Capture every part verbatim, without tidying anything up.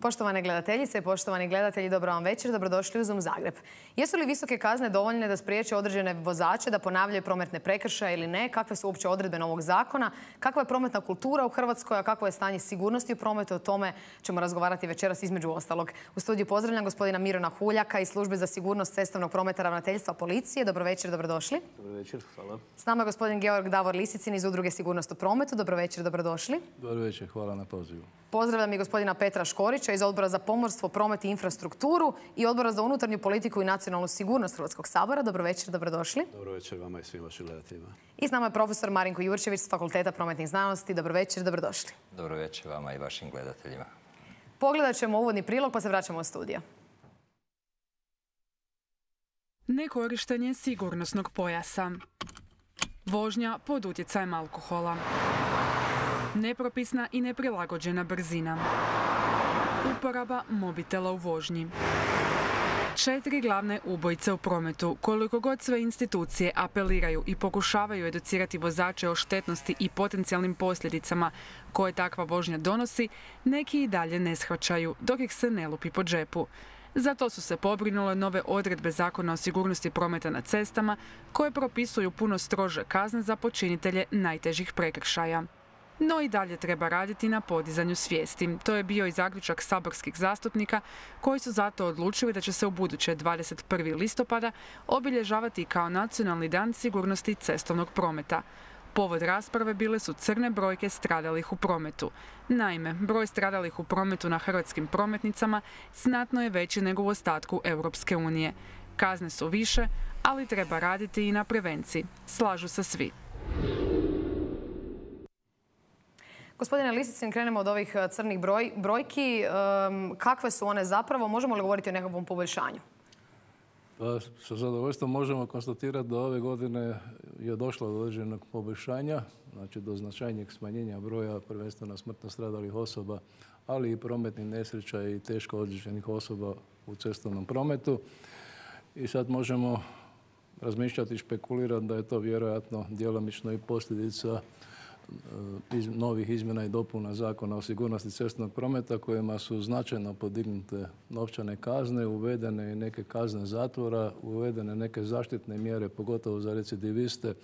Poštovane gledateljice i poštovani gledatelji, dobro vam večer, dobrodošli u Zoom Zagreb. Jesu li visoke kazne dovoljne da spriječe određene vozače da ponavljaju prometne prekršaje ili ne? Kakve su uopće odredbe novog zakona? Kakva je prometna kultura u Hrvatskoj, a kakvo je stanje sigurnosti u prometu? O tome ćemo razgovarati večeras između ostalog. U studiju pozdravljam gospodina Mirona Huljaka iz Službe za sigurnost cestovnog prometa Ravnateljstva policije. Dobro večer, dobrodošli. Dobro večer, hvala. S nama je gospodin Georg Davor Lisicin iz Udruge Sigurnost u prometu. Dobro večer, dobrodošli. Dobro večer, hvala na pozivu. Pozdravljam i gospodina Petra Škorića iz Odbora za pomorstvo, promet i infrastrukturu i Odbora za unutarnju politiku i nacionalnu sigurnost Hrvatskog sabora. Dobro večer, dobrodošli. Dobro večer vama i svim vašim gledateljima. I s nama je profesor Marinko Jurčević s Fakulteta prometnih znanosti. Dobro večer, dobrodošli. Dobro večer vama i vašim gledateljima. Pogledat ćemo uvodni prilog pa se vraćamo u studio. Nekorištenje sigurnosnog pojasa. Vožnja pod utjecajem alkohola. Nepropisna i neprilagođena brzina. Uporaba mobitela u vožnji. Četiri glavne ubojice u prometu. Koliko god sve institucije apeliraju i pokušavaju educirati vozače o štetnosti i potencijalnim posljedicama koje takva vožnja donosi, neki i dalje ne shvaćaju, dok ih se ne lupi po džepu. Zato su se pobrinule nove odredbe Zakona o sigurnosti prometa na cestama koje propisuju puno strože kazne za počinitelje najtežih prekršaja. No i dalje treba raditi na podizanju svijesti. To je bio i zaključak saborskih zastupnika koji su zato odlučili da će se u buduće dvadeset prvog listopada obilježavati kao Nacionalni dan sigurnosti cestovnog prometa. Povod rasprave bile su crne brojke stradalih u prometu. Naime, broj stradalih u prometu na hrvatskim prometnicama znatno je veći nego u ostatku Europske unije. Kazne su više, ali treba raditi i na prevenciji. Slažu se svi. Gospodine Lisicin, krenemo od ovih crnih broj, brojki. Um, kakve su one zapravo? Možemo li govoriti o nekakvom poboljšanju? Pa, sa zadovoljstvom možemo konstatirati da ove godine je došlo do određenog poboljšanja, znači do značajnijeg smanjenja broja prvenstveno smrtno stradalih osoba, ali i prometnih nesreća i teško ozlijeđenih osoba u cestovnom prometu. I sad možemo razmišljati i špekulirati da je to vjerojatno djelomično i posljedica iz novih izmjena i dopuna Zakona o sigurnosti cestovnog prometa kojima su značajno podignute novčane kazne, uvedene i neke kazne zatvora, uvedene neke zaštitne mjere, pogotovo za recidiviste,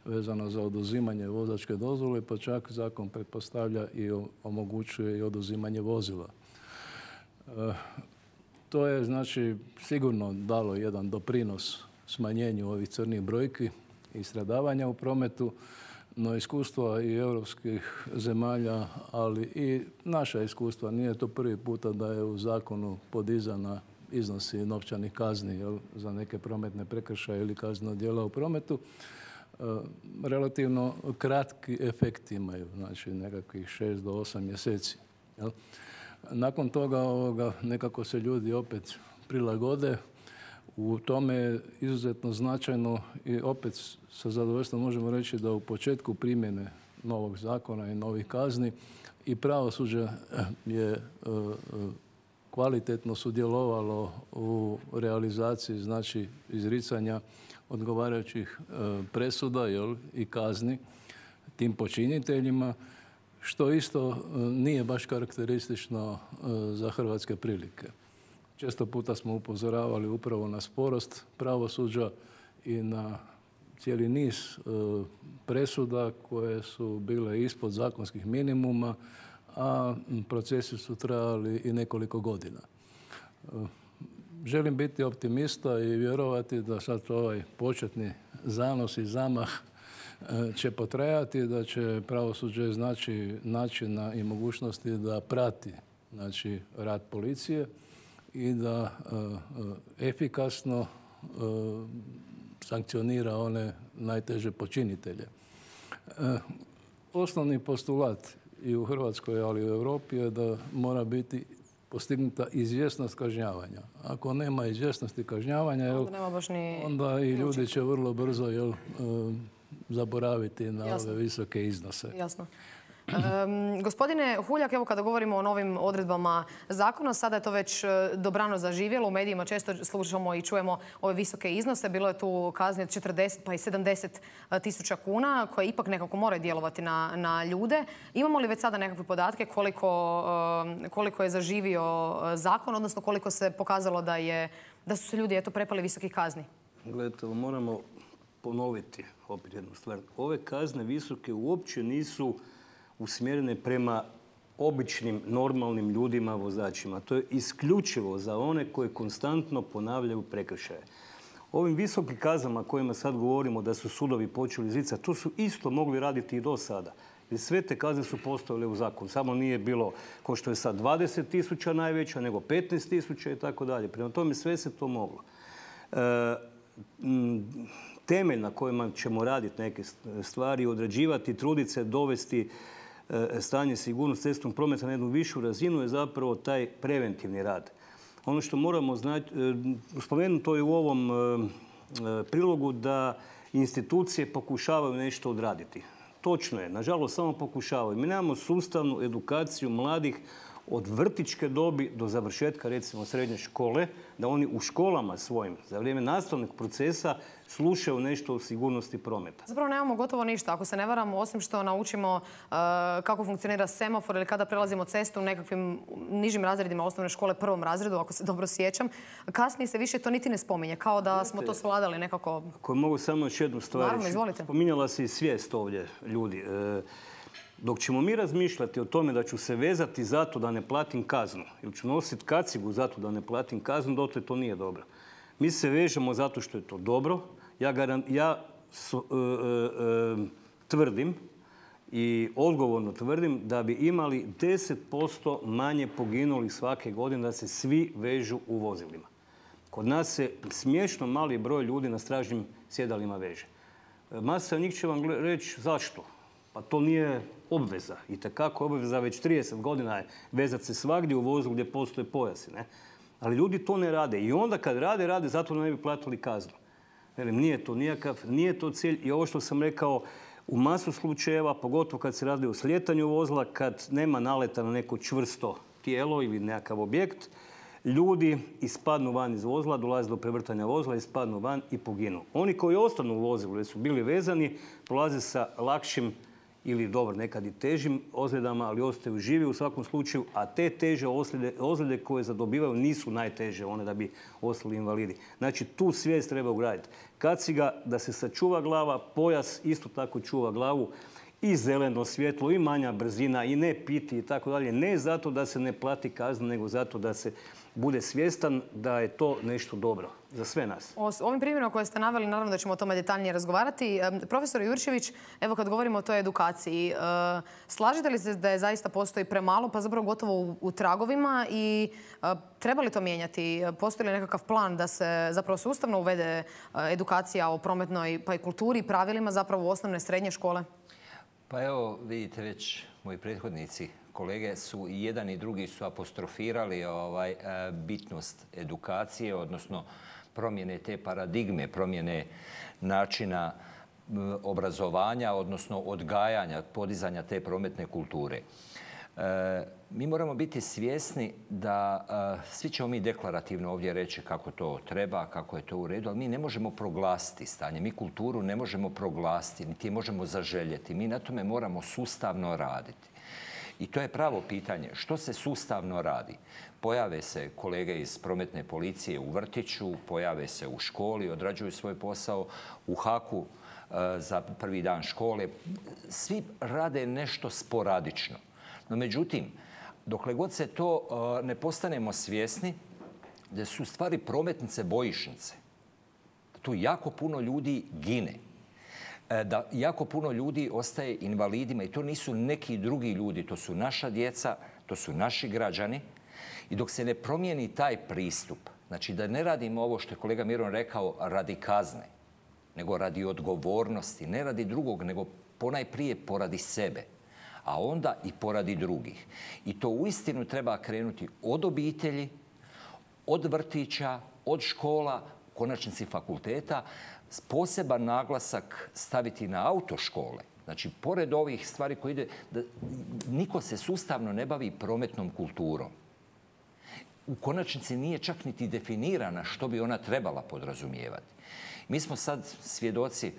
vezano za oduzimanje vozačke dozvole, pa čak zakon pretpostavlja i omogućuje i oduzimanje vozila. E, to je znači sigurno dalo jedan doprinos smanjenju ovih crnih brojki i stradavanja u prometu. No iskustva i europskih zemalja, ali i naša iskustva, nije to prvi puta da je u zakonu podizana iznosi novčanih kazni jel, za neke prometne prekršaje ili kaznena djela u prometu. E, relativno kratki efekti imaju, znači nekakvih šest do osam mjeseci. Jel. Nakon toga ovoga, nekako se ljudi opet prilagode. U tome je izuzetno značajno i opet sa zadovoljstvom možemo reći da u početku primjene novog zakona i novih kazni i pravosuđe je kvalitetno sudjelovalo u realizaciji, znači izricanja odgovarajućih presuda jel, i kazni tim počiniteljima, što isto nije baš karakteristično za hrvatske prilike. Često puta smo upozoravali upravo na sporost pravosuđa i na cijeli niz presuda koje su bile ispod zakonskih minimuma, a procesi su trajali i nekoliko godina. Želim biti optimista i vjerovati da sad ovaj početni zanos i zamah će potrajati, da će pravosuđe znači načina i mogućnosti da prati znači, rad policije i da uh, efikasno uh, sankcionira one najteže počinitelje. Uh, osnovni postulat i u Hrvatskoj, ali i u Europi je da mora biti postignuta izvjesnost kažnjavanja. Ako nema izvjesnosti kažnjavanja, jel, onda, nema baš ni onda i ljudi će vrlo brzo jel, uh, zaboraviti na Jasno. ove visoke iznose. Jasno. Um, gospodine Huljak, evo kada govorimo o novim odredbama zakona, sada je to već dobrano zaživjelo. U medijima često slušamo i čujemo ove visoke iznose. Bilo je tu kazni od četrdeset pa i sedamdeset tisuća kuna koje ipak nekako moraju djelovati na, na ljude. Imamo li već sada nekakve podatke koliko, koliko je zaživio zakon, odnosno koliko se pokazalo da, je, da su se ljudi eto, prepali visokih kazni? Gledajte, moramo ponoviti opet jednu stvar. Ove kazne visoke uopće nisu usmjerene prema običnim, normalnim ljudima, vozačima. To je isključivo za one koji konstantno ponavljaju prekršaje. Ovim visokim kaznama kojima sad govorimo da su sudovi počeli izricati, to su isto mogli raditi i do sada. Jer sve te kazne su postojale u zakonu. Samo nije bilo, kao što je sad, dvadeset tisuća najveća, nego petnaest tisuća i tako dalje. Prema tome sve se to moglo. E, temelj na kojima ćemo raditi neke stvari, odrađivati, truditi se, dovesti stanje sigurnosti cestovnog prometa na jednu višu razinu je zapravo taj preventivni rad. Ono što moramo znati, spomenuto je u ovom prilogu da institucije pokušavaju nešto odraditi. Točno je, nažalost samo pokušavaju. Mi nemamo sustavnu edukaciju mladih od vrtićke dobi do završetka recimo srednje škole, da oni u školama svojim za vrijeme nastavnog procesa slušaju nešto o sigurnosti prometa. Zapravo nemamo gotovo ništa. Ako se ne varamo, osim što naučimo uh, kako funkcionira semafor ili kada prelazimo cestu u nekakvim nižim razredima osnovne škole, prvom razredu, ako se dobro sjećam, kasnije se više to niti ne spominje, kao da smo to svladali nekako. Ako mogu samo još jednu stvar. Naravno, izvolite. Spominjala se i svijest ovdje ljudi. E, Dok ćemo mi razmišljati o tome da ću se vezati zato da ne platim kaznu ili ću nositi kacigu zato da ne platim kaznu, dotle to nije dobro. Mi se vežemo zato što je to dobro. Ja, garan, ja so, e, e, tvrdim i odgovorno tvrdim da bi imali deset posto manje poginulih svake godine da se svi vežu u vozilima. Kod nas se smiješno mali broj ljudi na stražnjim sjedalima veže. Masa njih će vam reći zašto. Pa to nije obveza. Itekako obveza već trideset godina je vezati se svagdje u vozilu gdje postoje pojasi. Ne? Ali ljudi to ne rade. I onda kad rade, rade zato da ne bi platili kaznu. Velim, nije to nijakav, nije to cilj. I ovo što sam rekao, u masu slučajeva, pogotovo kad se radi o slijetanju vozila, kad nema naleta na neko čvrsto tijelo ili nekakav objekt, ljudi ispadnu van iz vozila, dolaze do prevrtanja vozila, ispadnu van i poginu. Oni koji ostanu u vozilu jer su bili vezani, prolaze sa lakšim ili dobro, nekad i težim ozljedama, ali ostaju živi u svakom slučaju, a te teže ozljede, ozljede koje zadobivaju nisu najteže, one da bi ostali invalidi. Znači, tu svijest treba ugraditi. Kaciga da se sačuva glava, pojas isto tako čuva glavu, i zeleno svjetlo, i manja brzina, i ne piti i tako dalje. Ne zato da se ne plati kazna, nego zato da se bude svjestan da je to nešto dobro za sve nas. O ovim primjerima koje ste naveli, naravno da ćemo o tome detaljnije razgovarati. Profesor Jurčević, evo kad govorimo o toj edukaciji, slažete li se da je zaista postoji premalo, pa zapravo gotovo u, u tragovima i treba li to mijenjati? Postoji li nekakav plan da se zapravo sustavno uvede edukacija o prometnoj pa i kulturi i pravilima zapravo u osnovne i srednje škole? Pa evo, vidite već, moji prethodnici, kolege su i jedan i drugi su apostrofirali ovaj, bitnost edukacije, odnosno promjene te paradigme, promjene načina obrazovanja, odnosno odgajanja, podizanja te prometne kulture. E, mi moramo biti svjesni da e, svi ćemo mi deklarativno ovdje reći kako to treba, kako je to u redu, ali mi ne možemo proglasiti stanje. Mi kulturu ne možemo proglasiti, niti je možemo zaželjeti. Mi na tome moramo sustavno raditi. I to je pravo pitanje. Što se sustavno radi? Pojave se kolege iz prometne policije u vrtiću, pojave se u školi, odrađuju svoj posao, u haku e, za prvi dan škole. Svi rade nešto sporadično. No, međutim, dokle god se to uh, ne postanemo svjesni da su stvari prometnice bojišnice, da tu jako puno ljudi gine, da jako puno ljudi ostaje invalidima i to nisu neki drugi ljudi, to su naša djeca, to su naši građani. I dok se ne promijeni taj pristup, znači da ne radimo ovo što je kolega Miron rekao radi kazne, nego radi odgovornosti, ne radi drugog, nego ponajprije poradi sebe, a onda i poradi drugih. I to uistinu treba krenuti od obitelji, od vrtića, od škola, u konačnici fakulteta, poseban naglasak staviti na autoškole, Znači, pored ovih stvari koje ide, da niko se sustavno ne bavi prometnom kulturom. U konačnici nije čak niti definirana što bi ona trebala podrazumijevati. Mi smo sad svjedoci,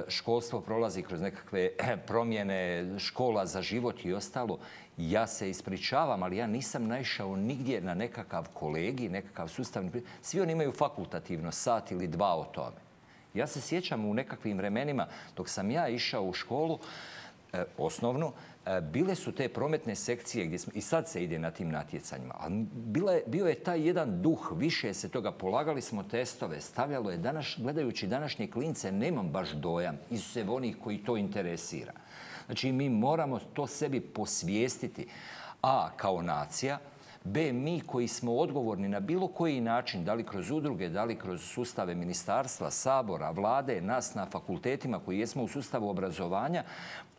školstvo prolazi kroz nekakve promjene, škola za život i ostalo. Ja se ispričavam, ali ja nisam naišao nigdje na nekakav kolegij, nekakav sustavni... Svi oni imaju fakultativno sat ili dva o tome. Ja se sjećam u nekakvim vremenima, dok sam ja išao u školu, eh, osnovnu, eh, bile su te prometne sekcije gdje smo, i sad se ide na tim natjecanjima, ali bila je, bio je taj jedan duh, više se toga, polagali smo testove, stavljalo je, danas, gledajući današnje klince, nemam baš dojam, izuzev onih koji to interesira. Znači, mi moramo to sebi posvijestiti, a kao nacija, B, mi koji smo odgovorni na bilo koji način, da li kroz udruge, da li kroz sustave ministarstva, sabora, vlade, nas na fakultetima koji jesmo u sustavu obrazovanja,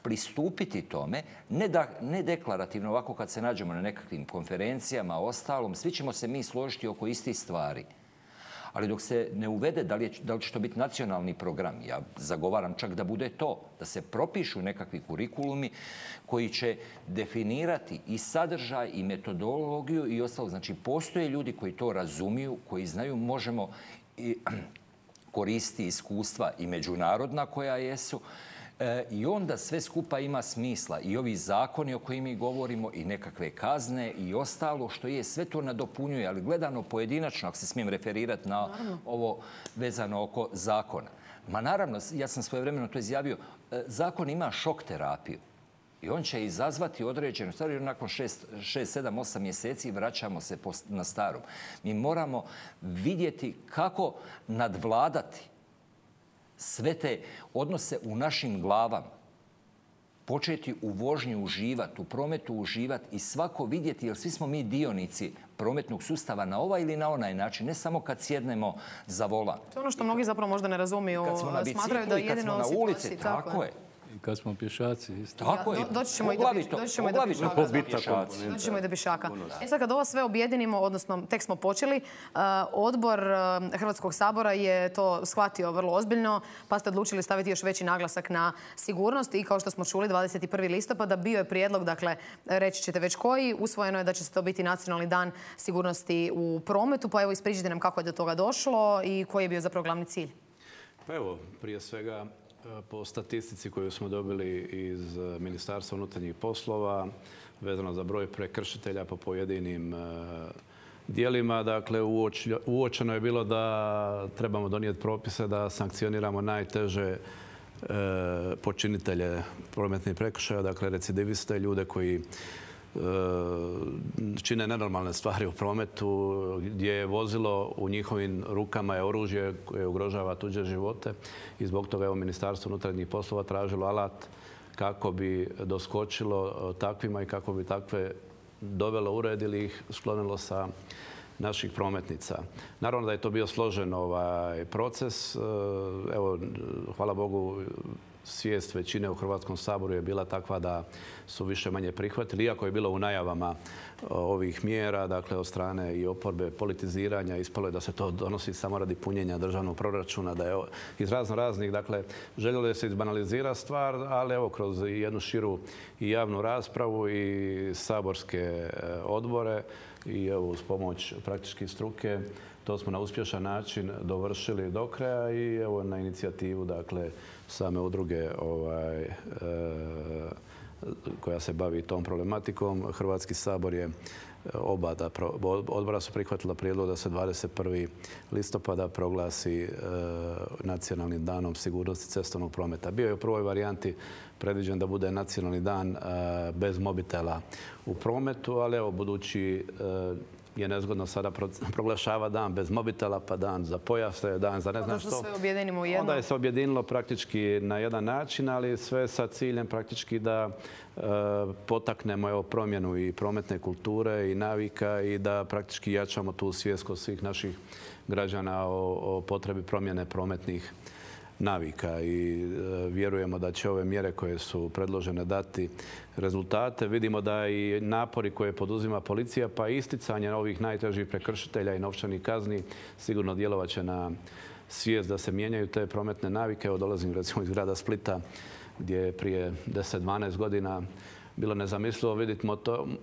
pristupiti tome, ne, da, ne deklarativno, ovako kad se nađemo na nekakvim konferencijama, ostalom, svi ćemo se mi složiti oko istih stvari. Ali dok se ne uvede, da li, je, da li će to biti nacionalni program, ja zagovaram čak da bude to, da se propišu nekakvi kurikulumi koji će definirati i sadržaj i metodologiju i ostalo. Znači, postoje ljudi koji to razumiju, koji znaju, možemo i koristiti iskustva i međunarodna koja jesu. E, I onda sve skupa ima smisla. I ovi zakoni o kojima mi govorimo, i nekakve kazne, i ostalo što je, sve to nadopunjuje. Ali gledano pojedinačno, ako se smijem referirati na naravno. Ovo vezano oko zakona. Ma naravno, ja sam svojevremeno to izjavio, e, zakon ima šok terapiju. I on će izazvati određenu stvar, jer nakon šest, sedam, osam mjeseci vraćamo se na starom. Mi moramo vidjeti kako nadvladati sve te odnose u našim glavama, početi u vožnji uživati, u prometu uživati i svako vidjeti, jer svi smo mi dionici prometnog sustava na ovaj ili na onaj način, ne samo kad sjednemo za volan. To je ono što mnogi zapravo možda ne razumiju, smatraju da je jedino na ulici, tako je. I kad smo pješaci, isto. Tako je. Doći ćemo i do pješaka. Doći ćemo i do pješaka. E sad kad ovo sve objedinimo, odnosno tek smo počeli, odbor Hrvatskog sabora je to shvatio vrlo ozbiljno, pa ste odlučili staviti još veći naglasak na sigurnost i kao što smo čuli dvadeset prvi listopada bio je prijedlog, dakle reći ćete već koji, usvojeno je da će to biti nacionalni dan sigurnosti u prometu, pa evo ispričajte nam kako je do toga došlo i koji je bio zapravo glavni cilj. Pa evo, prije svega po statistici koju smo dobili iz Ministarstva unutarnjih poslova, vezano za broj prekršitelja po pojedinim dijelima, dakle, uočeno je bilo da trebamo donijeti propise da sankcioniramo najteže počinitelje prometnih prekršaja, dakle, recidiviste, ljude koji čine nenormalne stvari u prometu, gdje je vozilo u njihovim rukama je oružje koje ugrožava tuđe živote i zbog toga je Ministarstvo unutarnjih poslova tražilo alat kako bi doskočilo takvima i kako bi takve dovelo u red ili ih sklonilo sa naših prometnica. Naravno da je to bio složen ovaj proces. Evo, hvala Bogu, svijest većine u Hrvatskom saboru je bila takva da su više manje prihvatili, iako je bilo u najavama ovih mjera, dakle od strane i oporbe politiziranja, ispalo je da se to donosi samo radi punjenja državnog proračuna, da je iz razno raznih, dakle, željelo je se izbanalizira stvar, ali evo kroz jednu širu i javnu raspravu i saborske odbore i evo uz pomoć praktički struke, to smo na uspješan način dovršili do kraja i evo na inicijativu, dakle, same udruge ovaj, e, koja se bavi tom problematikom. Hrvatski sabor je oba da, odbora su prihvatila prijedlog da se dvadeset prvi listopada proglasi e, nacionalnim danom sigurnosti cestovnog prometa. Bio je u prvoj varijanti predviđen da bude nacionalni dan e, bez mobitela u prometu, ali evo budući e, je nezgodno sada proglašava dan bez mobitela, pa dan za pojase, dan za ne znam što. Onda se sve objedinimo u jedno. Onda je se objedinilo praktički na jedan način, ali sve sa ciljem praktički da e, potaknemo evo, promjenu i prometne kulture i navika i da praktički jačamo tu svijest kod svih naših građana o, o potrebi promjene prometnih navika i e, vjerujemo da će ove mjere koje su predložene dati rezultate. Vidimo da i napori koje poduzima policija pa isticanje ovih najtežih prekršitelja i novčanih kazni sigurno djelovat će na svijest da se mijenjaju te prometne navike. Evo dolazim recimo iz grada Splita gdje je prije deset dvanaest godina bilo nezamislivo vidjeti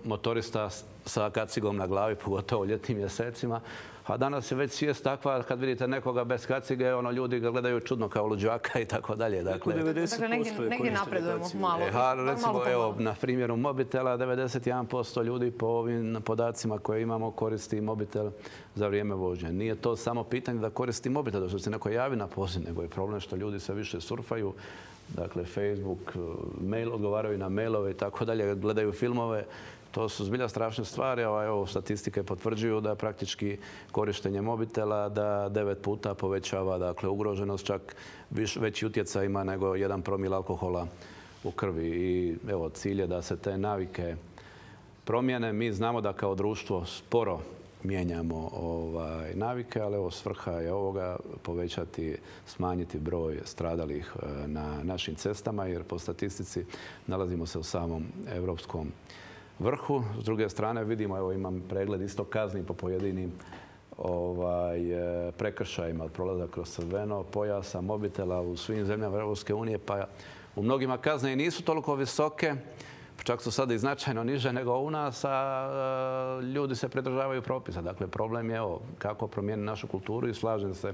motorista sa kacigom na glavi, pogotovo u ljetnim mjesecima. A danas je već svijest takva, kad vidite nekoga bez kacige, ono, ljudi ga gledaju čudno kao luđaka i tako dalje. Dakle, negdje napredujemo malo. Recimo, evo, na primjeru mobitela, devedeset jedan posto ljudi po ovim podacima koje imamo koristi mobitel za vrijeme vožnje. Nije to samo pitanje da koristi mobitel, da što se neko javi na poziv, nego je problem što ljudi sve više surfaju. Dakle, Facebook, mail, odgovaraju na mailove i tako dalje, gledaju filmove. To su zbilja strašne stvari. Evo, statistike potvrđuju da praktički korištenje mobitela da devet puta povećava, dakle, ugroženost, čak veći utjecaj ima nego jedan promil alkohola u krvi. I evo, cilj je da se te navike promijene. Mi znamo da kao društvo sporo mijenjamo ovaj, navike, ali evo, svrha je ovoga povećati, smanjiti broj stradalih na našim cestama, jer po statistici nalazimo se u samom europskom vrhu. S druge strane vidimo, evo imam pregled isto kazni po pojedinim ovaj, prekršajima od prolaza kroz crveno, pojasa, mobitela u svim zemljama Europske unije, pa u mnogima kazne i nisu toliko visoke, čak su sada i značajno niže nego u nas, a ljudi se pridržavaju propisa. Dakle, problem je evo, kako promijeniti našu kulturu i slažem se,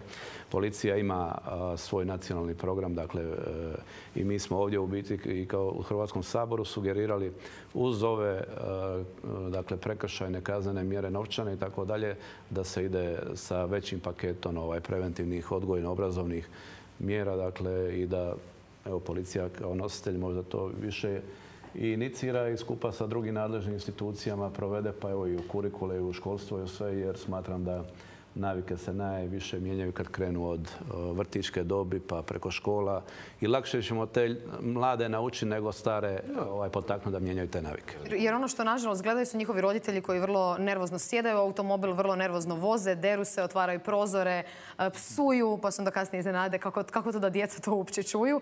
policija ima svoj nacionalni program, dakle, i mi smo ovdje u biti i kao u Hrvatskom saboru sugerirali uz ove dakle, prekršajne kaznene mjere, novčane i tako dalje, da se ide sa većim paketom ovaj, preventivnih odgojno-obrazovnih mjera, dakle, i da evo, policija kao nositelj možda to više i inicira i skupa sa drugim nadležnim institucijama provede, pa evo i u kurikule, i u školstvo i u sve, jer smatram da navike se najviše mijenjaju kad krenu od vrtićke dobi pa preko škola i lakše ćemo te mlade naučiti nego stare ovaj, potaknuti da mijenjaju te navike. Jer ono što nažalost gledaju su njihovi roditelji koji vrlo nervozno sjedaju u automobil, vrlo nervozno voze, deru se, otvaraju prozore, psuju, pa se onda kasnije iznenade kako, kako to da djeca to uopće čuju.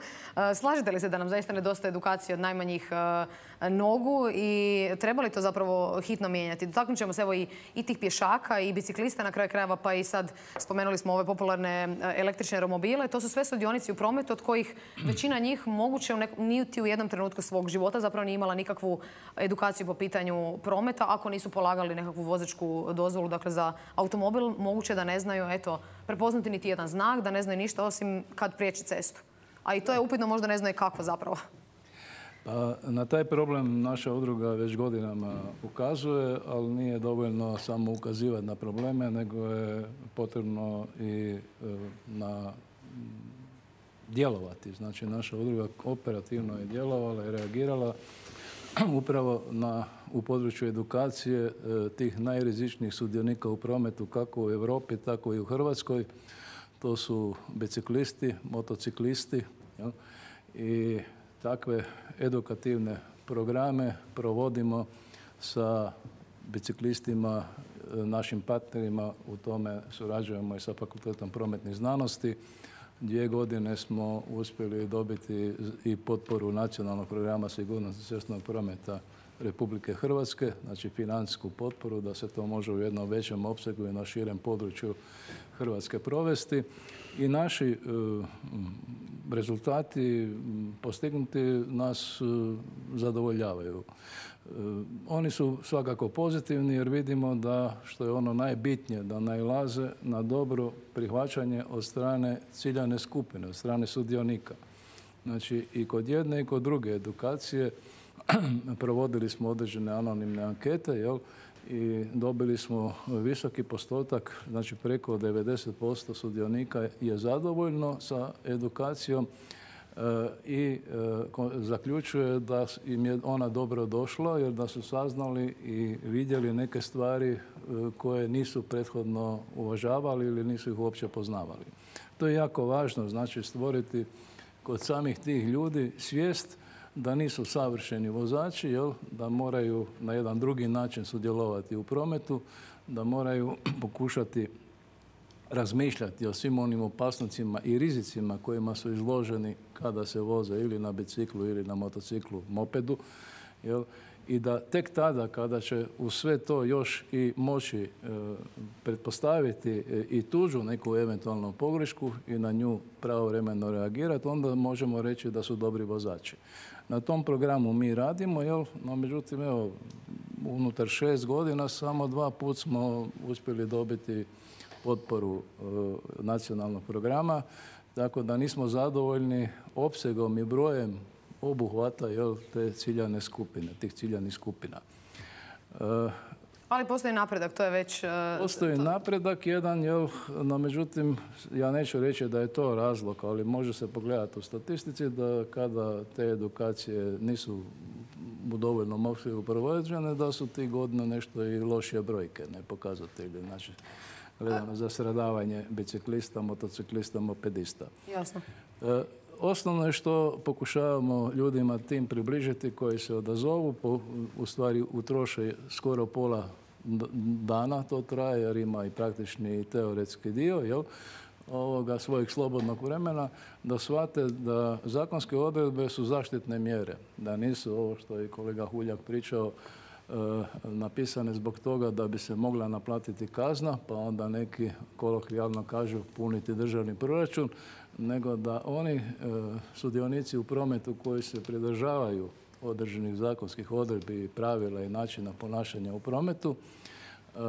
Slažete li se da nam zaista nedostaje edukacije od najmanjih nogu i treba li to zapravo hitno mijenjati? Dotaknut ćemo se evo i, i tih pješaka i biciklista na kraju krajeva, pa i sad spomenuli smo ove popularne električne romobile. To su sve sudionici u prometu od kojih većina njih moguće niti u jednom trenutku svog života zapravo nije imala nikakvu edukaciju po pitanju prometa. Ako nisu polagali nekakvu vozačku dozvolu, dakle za automobil, moguće da ne znaju eto, prepoznati niti jedan znak, da ne znaju ništa osim kad priječi cestu. A i to je upitno, možda ne znaju kako zapravo. Pa, na taj problem naša udruga već godinama ukazuje, ali nije dovoljno samo ukazivati na probleme, nego je potrebno i na djelovati. Znači, naša udruga operativno je djelovala i reagirala upravo na, u području edukacije tih najrizičnijih sudionika u prometu, kako u Europi, tako i u Hrvatskoj. To su biciklisti, motociklisti, jel? I takve edukativne programe provodimo sa biciklistima, našim partnerima. U tome surađujemo i sa Fakultetom prometnih znanosti. Dvije godine smo uspjeli dobiti i potporu nacionalnog programa sigurnosti cestovnog prometa Republike Hrvatske, znači financijsku potporu da se to može u jednom većem opsegu i na širem području Hrvatske provesti. I naši uh, rezultati postignuti nas uh, zadovoljavaju. Uh, oni su svakako pozitivni jer vidimo da, što je ono najbitnije, da nailaze na dobro prihvaćanje od strane ciljane skupine, od strane sudionika. Znači i kod jedne i kod druge edukacije provodili smo određene anonimne ankete, jel? I dobili smo visoki postotak, znači preko devedeset posto sudionika je zadovoljno sa edukacijom e, i e, zaključuje da im je ona dobro došla jer da su saznali i vidjeli neke stvari e, koje nisu prethodno uvažavali ili nisu ih uopće poznavali. To je jako važno, znači stvoriti kod samih tih ljudi svijest da nisu savršeni vozači, jel? Da moraju na jedan drugi način sudjelovati u prometu, da moraju pokušati razmišljati o svim onim opasnostima i rizicima kojima su izloženi kada se voze ili na biciklu ili na motociklu, mopedu Jel? I da tek tada kada će u sve to još i moći e, pretpostaviti i tuđu neku eventualnu pogrešku i na nju pravovremeno reagirati, onda možemo reći da su dobri vozači. Na tom programu mi radimo, jel? No međutim, evo, unutar šest godina samo dva put smo uspjeli dobiti potporu e, nacionalnog programa, tako da nismo zadovoljni opsegom i brojem obuhvata, jel, te ciljane skupine, tih ciljanih skupina. E, Ali postoji napredak, to je već... Postoji to... napredak jedan, jel, no međutim, ja neću reći da je to razlog, ali može se pogledati u statistici da kada te edukacije nisu u dovoljnom opsegu provođene, da su ti godine nešto i lošije brojke, ne pokazatelji. Znači, gledano za stradavanje biciklista, motociklista, mopedista. Jasno. E, Osnovno je što pokušavamo ljudima tim približiti koji se odazovu, po, u stvari utroše skoro pola dana, to traje jer ima i praktični i teoretski dio, jel, ovoga svojeg slobodnog vremena, da shvate da zakonske odredbe su zaštitne mjere, da nisu ovo što je kolega Huljak pričao, e, napisane zbog toga da bi se mogla naplatiti kazna, pa onda neki kolokvijalno kažu puniti državni proračun, nego da oni e, sudionici u prometu koji se pridržavaju određenih zakonskih odredbi i pravila i načina ponašanja u prometu, e,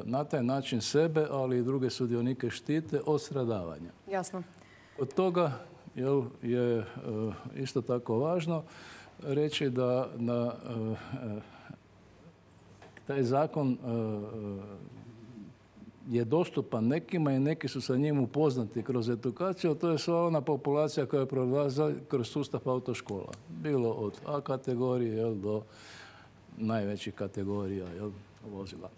na taj način sebe, ali i druge sudionike štite od stradavanja. Jasno. Od toga, jel, je e, isto tako važno reći da, da e, taj zakon e, je dostupan nekima i neki su sa njim upoznati kroz edukaciju, to je sva ona populacija koja prolazi kroz sustav autoškola. Bilo od A kategorije, jel, do najvećih kategorija, jel, vozila.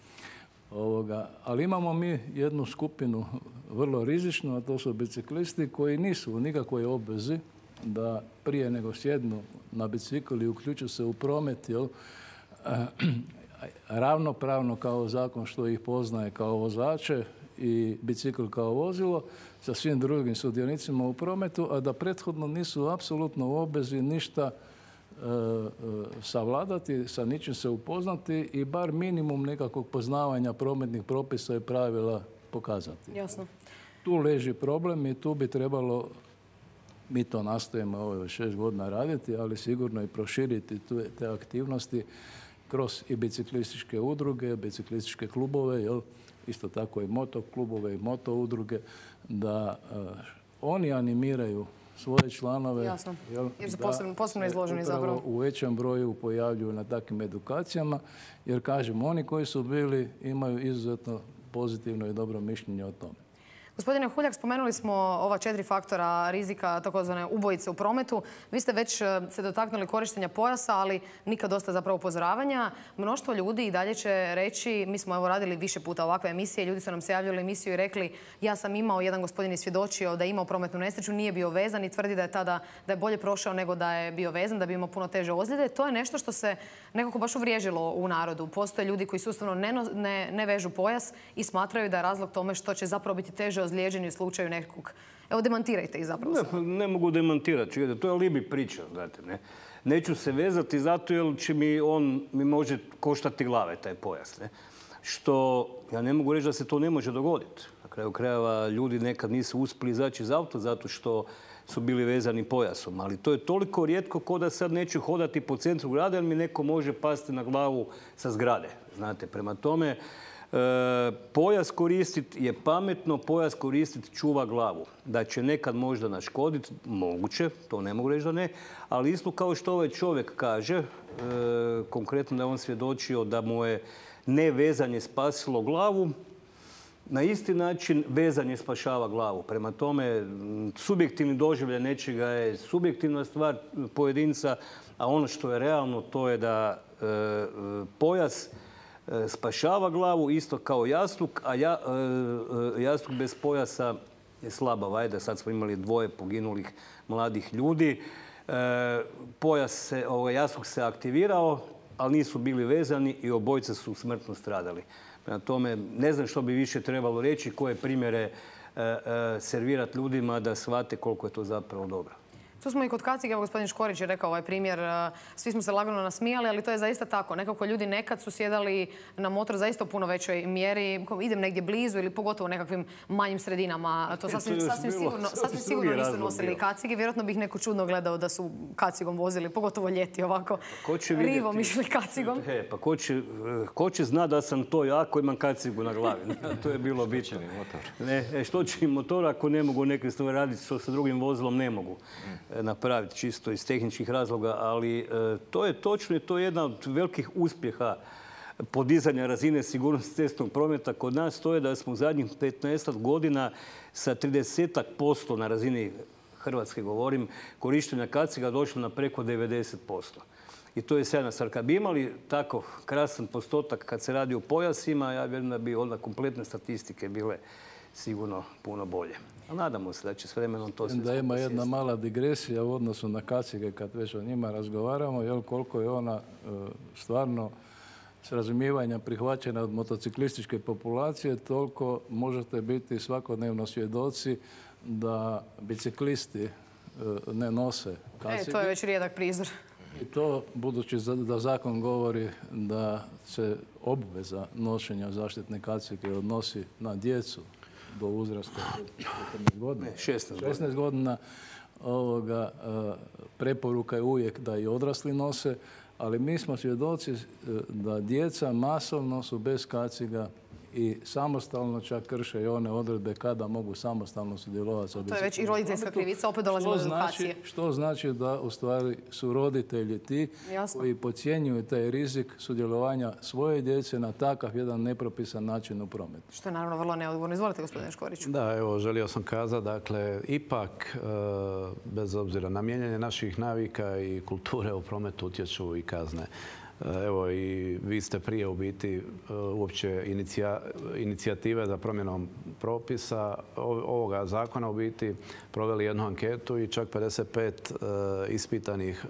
Ovoga, ali imamo mi jednu skupinu vrlo rizičnu, a to su biciklisti koji nisu u nikakvoj obvezi da prije nego sjednu na bicikl i uključu se u promet, jel, ravnopravno kao zakon što ih poznaje kao vozače i bicikl kao vozilo sa svim drugim sudionicima u prometu, a da prethodno nisu apsolutno u obvezi ništa e, e, savladati, sa ničim se upoznati i bar minimum nekakvog poznavanja prometnih propisa i pravila pokazati. Jasno. Tu leži problem i tu bi trebalo, mi to nastojimo ovo šest godina raditi, ali sigurno i proširiti te aktivnosti kroz i biciklističke udruge, biciklističke klubove, jel, isto tako i motoklubove i moto udruge, da uh, oni animiraju svoje članove. Jasno. Jel, jer su posebno, posebno izloženi zapravo. U većem broju pojavljuju na takvim edukacijama, jer kažem, oni koji su bili imaju izuzetno pozitivno i dobro mišljenje o tome. Gospodine Huljak, spomenuli smo ova četiri faktora rizika, takozvane ubojice u prometu. Vi ste već se dotaknuli korištenja pojasa, ali nikad dosta zapravo upozoravanja. Mnoštvo ljudi i dalje će reći, mi smo evo radili više puta ovakve emisije, ljudi su nam se javljali u emisiju i rekli ja sam imao, jedan gospodin je svjedočio da je imao prometnu nesreću, nije bio vezan i tvrdi da je tada da je bolje prošao nego da je bio vezan, da bi imao puno teže ozljede. To je nešto što se nekako baš uvriježilo u narodu. Postoje ljudi koji sustavno ne, ne, ne vežu pojas i smatraju da je razlog tome što će zapravo biti teže ozlijeđeni u slučaju nekog. Evo, demantirajte ih zapravo. Ne, ne mogu demantirati. To je alibi priča. Znate, ne. Neću se vezati zato jer će mi on mi može koštati glave, taj pojas. Ne. Što ja ne mogu reći da se to ne može dogoditi. Na kraju krajeva ljudi nekad nisu uspjeli izaći iz auta zato što su bili vezani pojasom. Ali to je toliko rijetko ko da sad neću hodati po centru grada jer mi neko može pasti na glavu sa zgrade. Znate, prema tome, E, pojas koristiti je pametno, pojas koristiti čuva glavu. Da će nekad možda naškoditi, moguće, to ne mogu reći da ne, ali isto kao što ovaj čovjek kaže, e, konkretno da je on svjedočio da mu je nevezanje spasilo glavu, na isti način vezanje spašava glavu. Prema tome, subjektivni doživljaj nečega je subjektivna stvar pojedinca, a ono što je realno to je da e, pojas spašava glavu, isto kao jastuk, a ja, e, jastuk bez pojasa je slaba vajda. Sad smo imali dvoje poginulih mladih ljudi. E, pojas se, ovaj, jastuk se aktivirao, ali nisu bili vezani i obojica su smrtno stradali. Prema tome, ne znam što bi više trebalo reći, koje primjere e, e, servirati ljudima da shvate koliko je to zapravo dobro. Tu smo i kod kacige, evo gospodin Škorić je rekao ovaj primjer, svi smo se lagano nasmijali, ali to je zaista tako. Nekako ljudi nekad su sjedali na motor zaista u puno većoj mjeri, idem negdje blizu ili pogotovo u nekakvim manjim sredinama. To sasvim, sasvim sigurno, sasvim sigurno nisu nosili kacige. Vjerojatno bih neko čudno gledao da su kacigom vozili, pogotovo ljeti ovako rivom išli kacigom. E, pa ko će, ko će zna da sam to ja ako imam kacigu na glavi? To je bilo bitno. Ne, e, što će im motor ako ne mogu neke stvari raditi što sa drugim vozilom ne mogu napraviti čisto iz tehničkih razloga, ali e, to je točno i to je jedna od velikih uspjeha podizanja razine sigurnosti cestovnog prometa kod nas. To je da smo u zadnjih petnaest godina sa trideset posto na razini Hrvatske, govorim, korištenja kaciga došli na preko devedeset posto. I to je sjajna stvar. Kad bi imali tako krasan postotak kad se radi o pojasima, ja vjerujem da bi onda kompletne statistike bile sigurno puno bolje. A nadamo se da će s vremenom to sve da ima jedna mala digresija u odnosu na kacige kad već o njima razgovaramo, jel, koliko je ona e, stvarno s razumijevanja prihvaćena od motociklističke populacije, toliko možete biti svakodnevno svjedoci da biciklisti e, ne nose kacige. E, to je već rijedak prizor. I to, budući da zakon govori da se obveza nošenja zaštitne kacige odnosi na djecu do uzrasta četrnaest godina. šesnaest godina. Ovoga, preporuka je uvijek da i odrasli nose, ali mi smo svjedoci da djeca masovno su bez kaciga i samostalno čak krše i one odredbe kada mogu samostalno sudjelovati sa biciklom. To je već i roditeljska krivica, opet dolazimo do edukacije. Što znači da u stvari su roditelji ti koji podcjenjuju taj rizik sudjelovanja svoje djece na takav jedan nepropisan način u prometu. Što je naravno vrlo neodgovorno. Izvolite, gospodine Škoriću. Da, evo, želio sam kazati, dakle, ipak, bez obzira na mijenjanje naših navika i kulture u prometu utječu i kazne. Evo, i vi ste prije u biti uopće inicijative za promjenom propisa ovoga zakona u biti proveli jednu anketu i čak pedeset pet ispitanih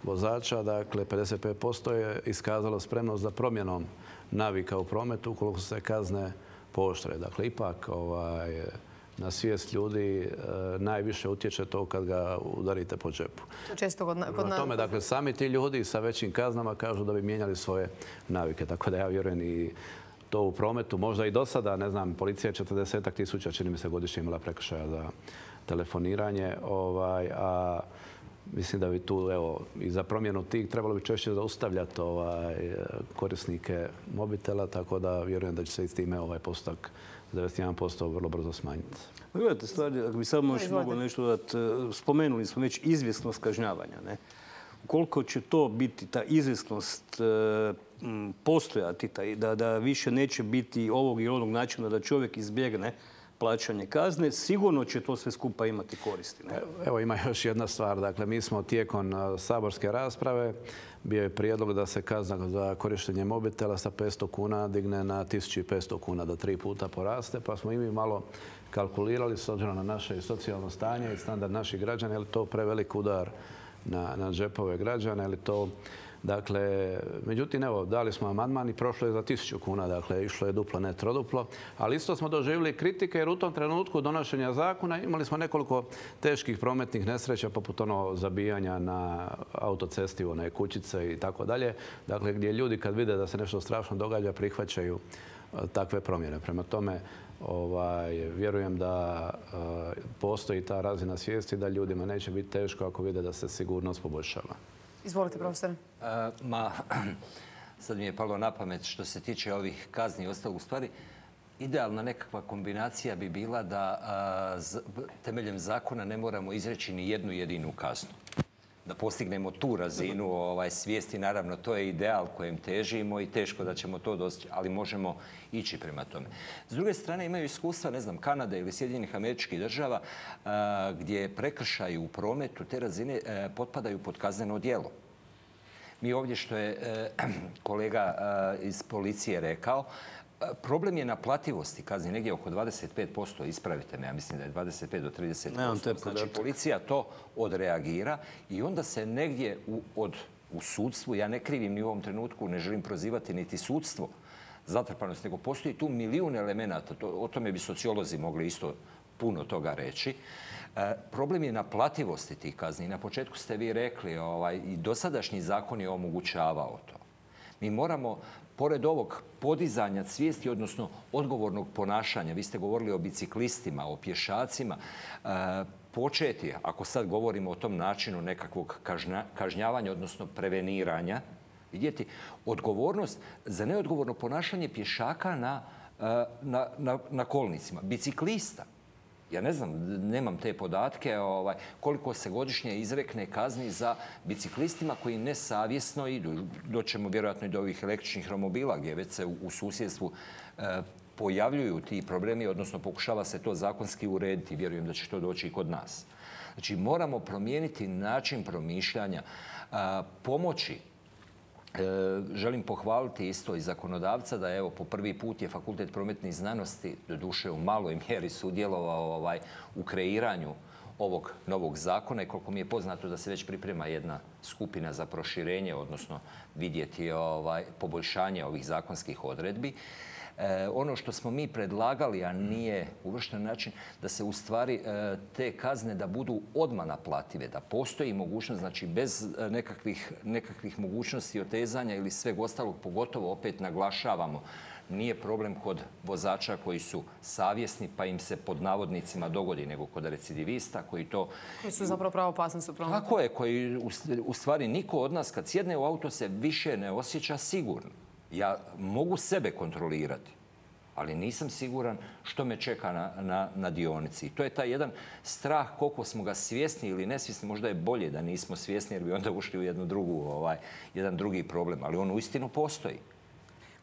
vozača, dakle pedeset pet posto je iskazalo spremnost za promjenom navika u prometu ukoliko se kazne pooštre. Dakle, ipak ovaj, na svijest ljudi najviše utječe to kad ga udarite po džepu. To često kod nas. Na tome, dakle, sami ti ljudi sa većim kaznama kažu da bi mijenjali svoje navike. Tako da ja vjerujem i to u prometu. Možda i do sada, ne znam, policija je četrdeset tisuća, čini mi se, godišnje imala prekršaja za telefoniranje. Ovaj, a mislim da bi tu, evo, i za promjenu tih trebalo bi češće zaustavljati ovaj, korisnike mobitela, tako da vjerujem da će se i s time ovaj postotak devedeset jedan posto vrlo brzo smanjiti. Gledajte, stvari, ako bi samo još mogao nešto dodati, spomenuli smo već izvjesnost kažnjavanja. Ne? Koliko će to biti, ta izvjesnost postojati, da, da više neće biti ovog i onog načina da čovjek izbjegne plaćanje kazne, sigurno će to sve skupa imati koristi. Ne? Evo, ima još jedna stvar. Dakle, mi smo tijekom saborske rasprave bio je prijedlog da se kazna za korištenje mobitela sa petsto kuna digne na tisuću petsto kuna, da tri puta poraste, pa smo i mi malo kalkulirali s obzirom na naše socijalno stanje i standard naših građana, je li to prevelik udar na, na džepove građana, je li to... Dakle, međutim, evo, dali smo amandman i prošlo je za tisuću kuna, dakle, išlo je duplo, ne troduplo. Ali isto smo doživjeli kritike jer u tom trenutku donošenja zakona imali smo nekoliko teških prometnih nesreća, poput ono zabijanja na autocesti, one kućice i tako dalje. Dakle, gdje ljudi kad vide da se nešto strašno događa, prihvaćaju takve promjene. Prema tome, ovaj, vjerujem da uh, postoji ta razina svijesti da ljudima neće biti teško ako vide da se sigurnost poboljšava. Izvolite, profesore. Ma, sad mi je palo na pamet što se tiče ovih kazni i ostalog. U stvari, idealna nekakva kombinacija bi bila da a, z, temeljem zakona ne moramo izreći ni jednu jedinu kaznu. Da postignemo tu razinu ovaj, svijesti. Naravno, to je ideal kojem težimo i teško da ćemo to dostići, ali možemo ići prema tome. S druge strane, imaju iskustva, ne znam, Kanade ili Sjedinjenih Američkih Država, a, gdje prekršaji u prometu te razine a, potpadaju pod kazneno djelo. Mi ovdje, što je e, kolega a, iz policije rekao, problem je naplativosti kazni, negdje oko dvadeset pet posto, ispravite me, ja mislim da je dvadeset pet do trideset posto. Znači, policija to odreagira i onda se negdje u, od, u sudstvu, ja ne krivim ni u ovom trenutku, ne želim prozivati niti sudstvo, zatrpanost, nego postoji tu milijun elemenata, to, o tome bi sociolozi mogli isto puno toga reći. Problem je naplativosti tih kazni. Na početku ste vi rekli, ovaj, i dosadašnji zakon je omogućavao to. Mi moramo, pored ovog podizanja svijesti, odnosno odgovornog ponašanja, vi ste govorili o biciklistima, o pješacima, početi, ako sad govorimo o tom načinu nekakvog kažnjavanja, odnosno preveniranja, vidjeti odgovornost za neodgovorno ponašanje pješaka na, na, na, na kolnicima, biciklista. Ja ne znam, nemam te podatke ovaj, koliko se godišnje izrekne kazni za biciklistima koji nesavjesno idu. Doćemo vjerojatno i do ovih električnih romobila gdje već se u, u susjedstvu e, pojavljuju ti problemi, odnosno pokušava se to zakonski urediti. Vjerujem da će to doći i kod nas. Znači, moramo promijeniti način promišljanja, a, pomoći. E, želim pohvaliti isto i zakonodavca da evo po prvi put je Fakultet prometnih znanosti, doduše u maloj mjeri, sudjelovao ovaj, u kreiranju ovog novog zakona i koliko mi je poznato da se već priprema jedna skupina za proširenje, odnosno vidjeti ovaj, poboljšanje ovih zakonskih odredbi. E, ono što smo mi predlagali, a nije uvršten način, da se u stvari e, te kazne da budu odmah naplative, da postoji mogućnost, znači bez nekakvih, nekakvih mogućnosti otezanja ili sveg ostalog, pogotovo opet naglašavamo, nije problem kod vozača koji su savjesni pa im se pod navodnicima dogodi, nego kod recidivista koji to... Koji su zapravo pravo opasni su prometu. Tako je, koji u stvari niko od nas kad sjedne u auto se više ne osjeća sigurno. Ja mogu sebe kontrolirati, ali nisam siguran što me čeka na, na, na dionici. I to je taj jedan strah koliko smo ga svjesni ili nesvjesni. Možda je bolje da nismo svjesni jer bi onda ušli u jednu drugu, ovaj, jedan drugi problem. Ali on uistinu postoji.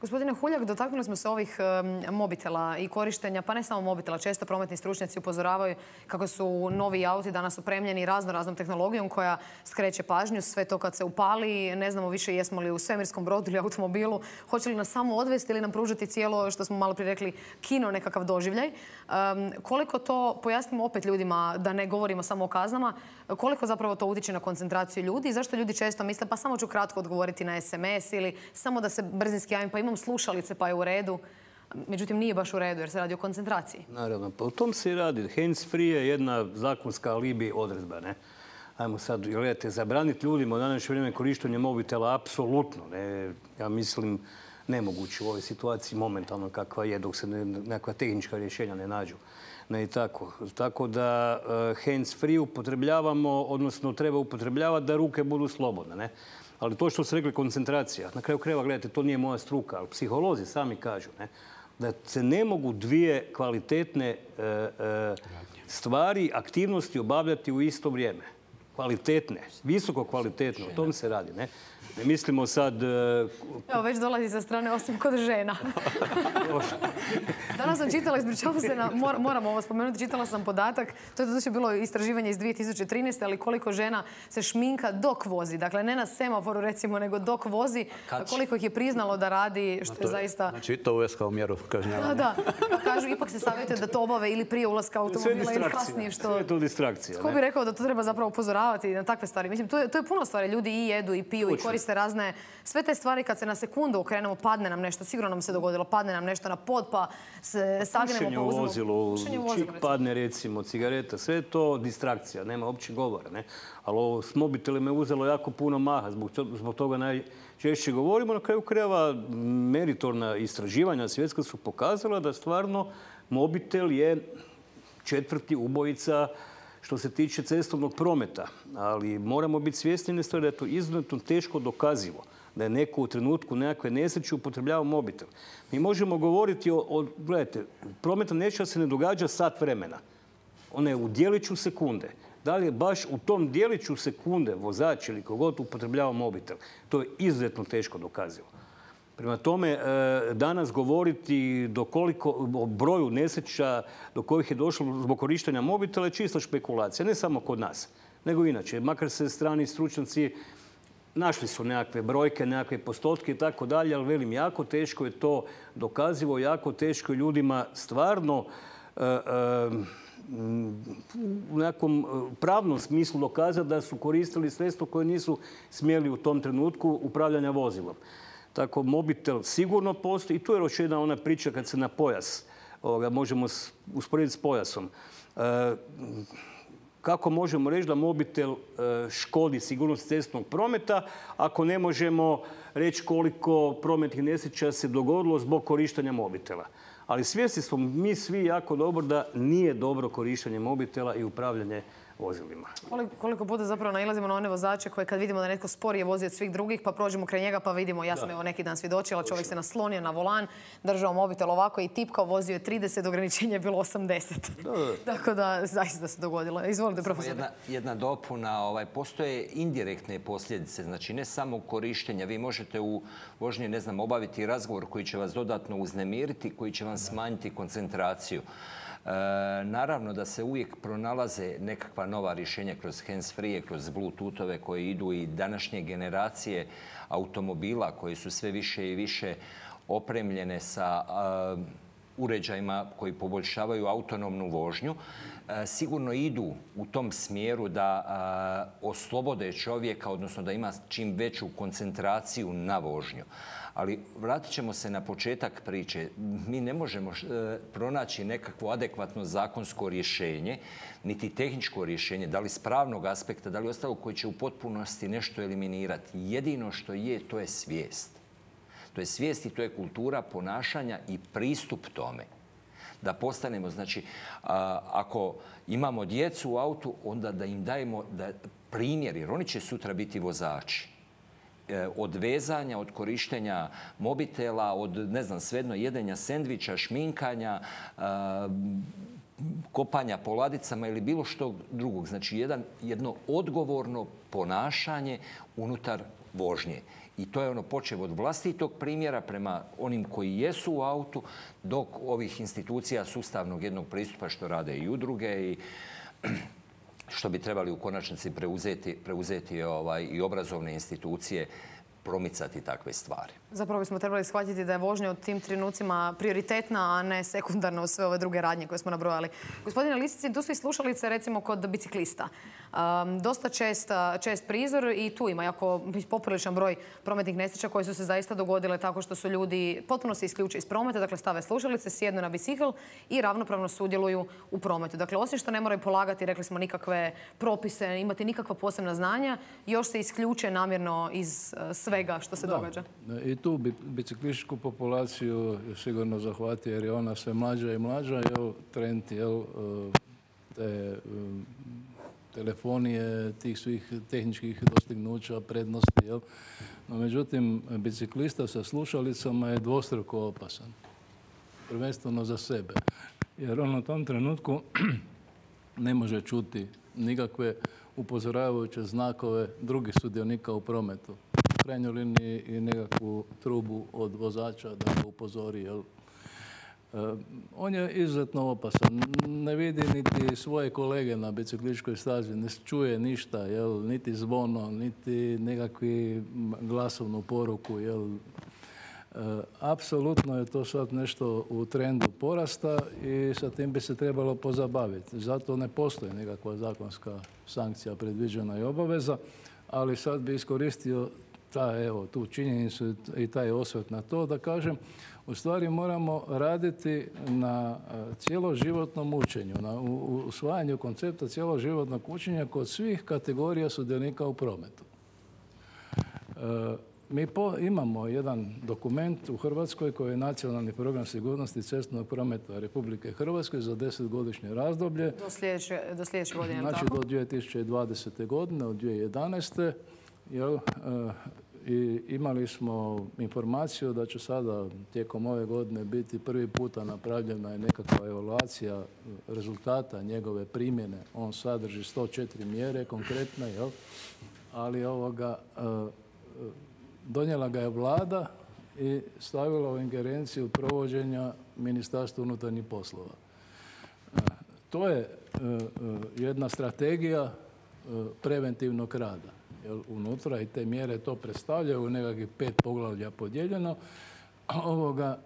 Gospodine Huljak, dotaknuli smo se ovih um, mobitela i korištenja, pa ne samo mobitela. Često prometni stručnjaci upozoravaju kako su novi auti danas opremljeni razno raznom tehnologijom koja skreće pažnju. Sve to kad se upali, ne znamo više jesmo li u svemirskom brodu ili automobilu. Hoće li nas samo odvesti ili nam pružiti cijelo, što smo malo prije rekli, kino, nekakav doživljaj. Um, koliko to, pojasnimo opet ljudima, da ne govorimo samo o kaznama, koliko zapravo to utječe na koncentraciju ljudi i zašto ljudi često misle pa samo ću kratko odgovoriti na es em es ili samo da se brzinski javim pa imam slušalice pa je u redu. Međutim, nije baš u redu jer se radi o koncentraciji. Naravno, pa o tom se i radi. Hands free je jedna zakonska alibi odredba, ne? Ajmo sad, gledajte, zabraniti ljudima u današnje vrijeme korištenje mobitela, apsolutno, ne? Ja mislim, nemoguće u ovoj situaciji momentalno kakva je dok se ne, nekakva tehnička rješenja ne nađu. Ne i tako. Tako da uh, hands free upotrebljavamo, odnosno treba upotrebljavati da ruke budu slobodne, ne? Ali to što ste rekli, koncentracija. Na kraju krajeva, gledajte, to nije moja struka, ali psiholozi sami kažu, ne, da se ne mogu dvije kvalitetne e, e, stvari, aktivnosti obavljati u isto vrijeme. Kvalitetne, visoko kvalitetne, o tom se radi, ne? Ne mislimo sad... Evo, već dolazi sa strane, osim kod žena. Danas sam čitala, ispričavam se, na, moram ovo spomenuti, čitala sam podatak, to je doduše bilo istraživanje iz dvije tisuće trinaeste. ali koliko žena se šminka dok vozi. Dakle, ne na semaforu, recimo, nego dok vozi. Koliko ih je priznalo da radi, što je zaista... Znači, to uvijek kao mjeru kažnjavanja. Da, da. Pa kažu, ipak se savjetuje da to obave ili prije ulaska automobila ili kasnije. Što... Sve je to distrakcija. Tko bi rekao da to treba zapravo upozoravati na takve stvari? Mislim, to je, to je puno stvari. Ljudi i jedu, i piju, i koriste razne... Sve te stvari kad se na sekundu okrenemo, padne nam nešto, sigurno nam se dogodilo, padne nam nešto na pod, pa se sagnemo, pa uzmemo... Vozilu, čik padne, recimo, cigareta, sve je to distrakcija, nema uopće govora, ne? Ali ovo s mobitelima je uzelo jako puno maha, zbog, to, zbog toga najčešće govorimo. Na kraju krajeva meritorna istraživanja svjetska su pokazala da stvarno mobitel je četvrti ubojica što se tiče cestovnog prometa, ali moramo biti svjesni jedne stvari da je to izuzetno teško dokazivo, da je neko u trenutku nekakve nesreće upotrebljava mobitel. Mi možemo govoriti o, o gledajte, prometna nesreća se ne događa sat vremena. Ona je u dijeliću sekunde. Da li je baš u tom dijeliću sekunde vozač ili kogod upotrebljava mobitel? To je izuzetno teško dokazivo. Prema tome, danas govoriti do koliko, o broju nesreća do kojih je došlo zbog korištenja mobitela je čista špekulacija. Ne samo kod nas, nego inače. Makar se strani stručnjaci našli su nekakve brojke, nekakve postotke i tako dalje, ali velim, jako teško je to dokazivo, jako teško je ljudima stvarno e, e, u nekom pravnom smislu dokazati da su koristili sredstvo koje nisu smjeli u tom trenutku upravljanja vozilom. Tako, mobitel sigurno postoji. I tu je još jedna ona priča kad se na pojas, ovoga, možemo usporediti s pojasom. Kako možemo reći da mobitel škodi sigurnost cestnog prometa ako ne možemo reći koliko prometnih nesreća se dogodilo zbog korištenja mobitela? Ali svjesni smo mi svi jako dobro da nije dobro korištenje mobitela i upravljanje vozilima. Koliko puta zapravo nailazimo na one vozače koje kad vidimo da netko sporije vozi od svih drugih pa prođemo kraj njega pa vidimo, ja sam evo neki dan svjedočila, čovjek se naslonio na volan, držao mobitel ovako i tipkao, vozio je trideset, ograničenje je bilo osamdeset. Tako da zaista se dogodilo. Izvolite, profesor. Jedna, jedna dopuna, ovaj, postoje indirektne posljedice, znači ne samo korištenja. Vi možete u vožnji, ne znam, obaviti razgovor koji će vas dodatno uznemiriti, koji će vam smanjiti koncentraciju. E, naravno da se uvijek pronalaze nekakva nova rješenja kroz hands-free, kroz bluetoothove koji idu i današnje generacije automobila koji su sve više i više opremljene sa a, uređajima koji poboljšavaju autonomnu vožnju. E, sigurno idu u tom smjeru da a, oslobode čovjeka, odnosno da ima čim veću koncentraciju na vožnju. Ali vratit ćemo se na početak priče. Mi ne možemo pronaći nekakvo adekvatno zakonsko rješenje, niti tehničko rješenje, da li s pravnog aspekta, da li ostalo koji će u potpunosti nešto eliminirati. Jedino što je, to je svijest. To je svijest i to je kultura ponašanja i pristup tome. Da postanemo, znači, ako imamo djecu u autu, onda da im dajemo primjer, jer oni će sutra biti vozači. Od vezanja, od korištenja mobitela, od, ne znam, svejedno jedenja sendviča, šminkanja, kopanja po ladicama ili bilo što drugog. Znači, jedan, jedno odgovorno ponašanje unutar vožnje. I to je ono počev od vlastitog primjera prema onim koji jesu u autu, dok ovih institucija sustavnog jednog pristupa što rade i udruge i što bi trebali u konačnici preuzeti, preuzeti ovaj, i obrazovne institucije, promicati takve stvari. Zapravo bismo trebali shvatiti da je vožnja u tim trenucima prioritetna, a ne sekundarna u sve ove druge radnje koje smo nabrojali. Gospodine Lisici, tu su i slušalice recimo kod biciklista. Um, dosta čest, čest prizor i tu ima jako popriličan broj prometnih nesreća koje su se zaista dogodile tako što su ljudi potpuno se isključe iz prometa, dakle stave slušalice, sjednu na bicikl i ravnopravno sudjeluju u prometu. Dakle, osim što ne moraju polagati, rekli smo, nikakve propise, imati nikakva posebna znanja, još se isključe namjerno iz uh, svega što se da. događa. I tu biciklističku populaciju sigurno zahvati jer je ona sve mlađa i mlađa. Jel, trend jel, te telefonije, tih svih tehničkih dostignuća, prednosti. Jel. No, međutim, biciklista sa slušalicama je dvostruko opasan. Prvenstveno za sebe. Jer on u tom trenutku ne može čuti nikakve upozoravajuće znakove drugih sudionika u prometu. U krajnjoj liniji i nekakvu trubu od vozača da ga upozori. Jel? On je izuzetno opasan. Ne vidi niti svoje kolege na biciklističkoj stazi, ne čuje ništa, jel? Niti zvono, niti nekakvi glasovnu poruku. Jel? Apsolutno je to sad nešto u trendu porasta i sa tim bi se trebalo pozabaviti. Zato ne postoji nekakva zakonska sankcija predviđena i obaveza, ali sad bi iskoristio ta, evo, tu činjenicu i taj osvrt na to da kažem, u stvari moramo raditi na cjeloživotnom učenju, na usvajanju koncepta cjeloživotnog učenja kod svih kategorija sudionika u prometu. Mi po, imamo jedan dokument u Hrvatskoj koji je Nacionalni program sigurnosti cestovnog prometa Republike Hrvatske za desetgodišnje razdoblje. Do sljedeće, do sljedeće godine, znači tako? do dvije tisuće dvadesete. godine, od dvije tisuće jedanaeste. Jel, i imali smo informaciju da će sada tijekom ove godine biti prvi puta napravljena je nekakva evaluacija rezultata njegove primjene. On sadrži sto četiri mjere konkretne, jel? Ali ovoga, donijela ga je vlada i stavila u ingerenciju provođenja Ministarstva unutarnjih poslova. To je jedna strategija preventivnog rada. Unutra i te mjere to predstavljaju u nekakvih pet poglavlja podijeljeno. Ovoga,